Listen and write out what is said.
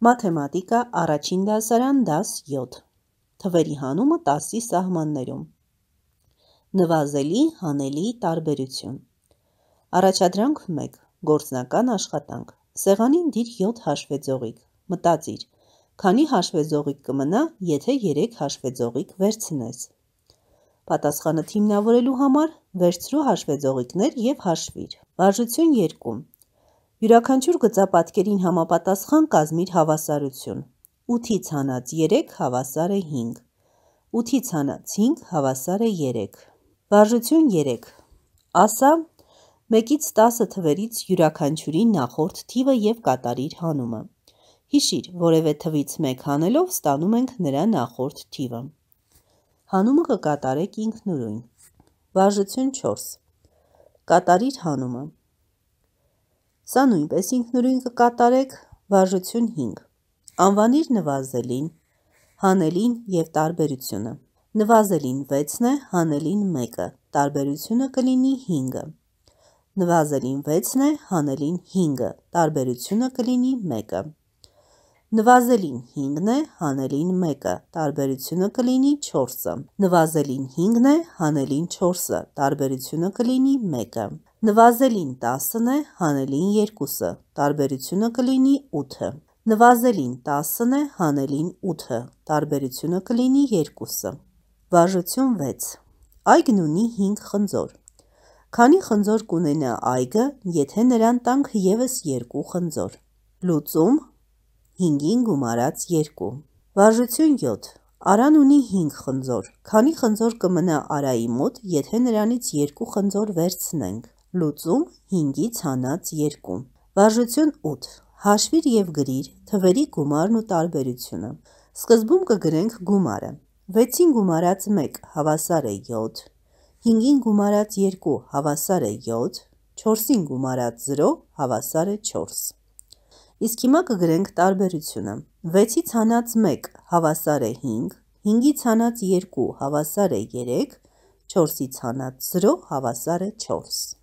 Մաթեմատիկա առաջին դասարան դաս 7 Թվերի հանումը 10-ի սահմաններում Նվազելի հանելի տարբերություն Առաջադրանք 1 Գործնական աշխատանք Սեղանին դիր 7 հաշվեձողիկ Մտածիր Քանի հաշվեձողիկ կմնա, եթե 3 հաշվեձողիկ վերցնես Պատասխանը թիմնավորելու համար վերցրու հաշվեձողիկներ և հաշվիր Վարժություն 2 Յուրաքանչյուր գծապատկերին համապատասխան կազմիր հավասարություն 8-ից հանած 3 հավասար է 5 8-ից հանած 5 հավասար է 3 Վարժություն 3 Ասա 1-ից 10 թվերից յուրաքանչյուրի նախորդ թիվը և կատարիր հանումը Հիշիր, որևէ թվից 1 հանելով ստանում ենք նրա նախորդ թիվը Հանումը կկատարեք ինքնուրույն Վարժություն 4 Կատարիր հանումը Սա նույնպես ինքնուրույն կկատարեք Վարժություն 5 Անվանիր նվազելին, հանելին և տարբերությունը Նվազելին 6 է, հանելին 1 Տարբերությունը կլինի 5 Նվազելին 6 է, հանելին 5 Տարբերությունը կլինի 1 Նվազելին 5 է, հանելին 1 Տարբերությունը կլինի 4 Նվազելին 5 է, հանելին 4 Տարբերությունը կլինի 1 Նվազելին 10 է, հանելին 2 Տարբերությունը կլինի 8 Նվազելին 10 է, հանելին 8 Տարբերությունը կլինի 2 Վարժություն 6 Այգն ունի 5 խնձոր Քանի խնձոր կունենա այգը, եթե նրան տանք ևս 2 խնձոր Լուծում 5-ին գումարած 2 Վարժություն 7 Արան ունի 5 խնձոր Քանի խնձոր կմնա Արայի մոտ, եթե նրանից 2 խնձոր վերցնենք Լուծում 5-ից հանած 2 Վարժություն 8 Հաշվիր և գրիր թվերի գումարն ու տարբերությունը Սկզբում կգրենք գումարը 6-ին գումարած 1 հավասար է 7 5-ին գումարած 2 հավասար է 7 4-ին գումարած 0 հավասար է 4 Իսկ հիմա կգրենք տարբերությունը 6-ից հանած 1 հավասար է 5 5-ից հանած 2 հավասար է 3 4-ից հանած 0 հավասար է 4